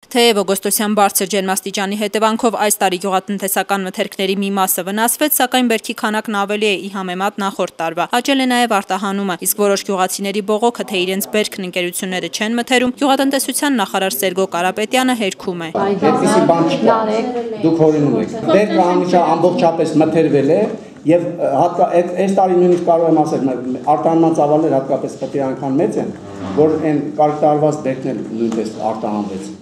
Թեև օգոստոսյան բարձր ջերմաստիճանի հետևանքով այս տարի գյուղատնտեսական մթերքների մի մասը վնասվեց, սակայն բերքի քանակն ավելի է ի համեմատ նախորդ տարվա։ Աճել է նաև արտահանումը, իսկ որոշ գյուղացիների բողոքը, թե իրենց բերքն ընկերությունները չեն մթերում, գյուղատնտեսության նախարար Սերգո Կարապետյանը հերքում է։ Այդպիսի բան չկա, դուք հորինում եք։ Բերքը ամբողջապես մթերվել է եւ այս տարի նույնիսկ կարող եմ ասել, արտահանման ծավալները հատկապես խտի անգամ մեծ են, որ այն կարգ տարված բերքն էլ նույնպես արտահանվեց։